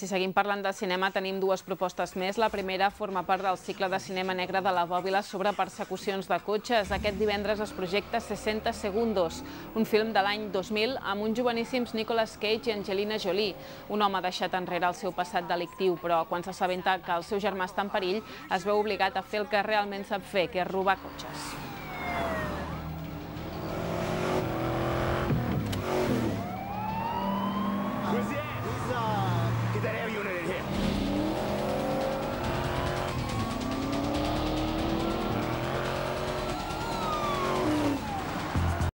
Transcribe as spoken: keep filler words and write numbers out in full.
Si seguim parlant de cinema, tenim dues propostes més. La primera forma part del cicle de cinema negre de la Bòbila sobre persecucions de cotxes. Aquest divendres es projecta seixanta segundos, un film de l'any dos mil amb uns joveníssims Nicolas Cage i Angelina Jolie. Un home ha deixat enrere el seu passat delictiu, però quan s'assabenta que el seu germà està en perill, es veu obligat a fer el que realment sap fer, que és robar cotxes.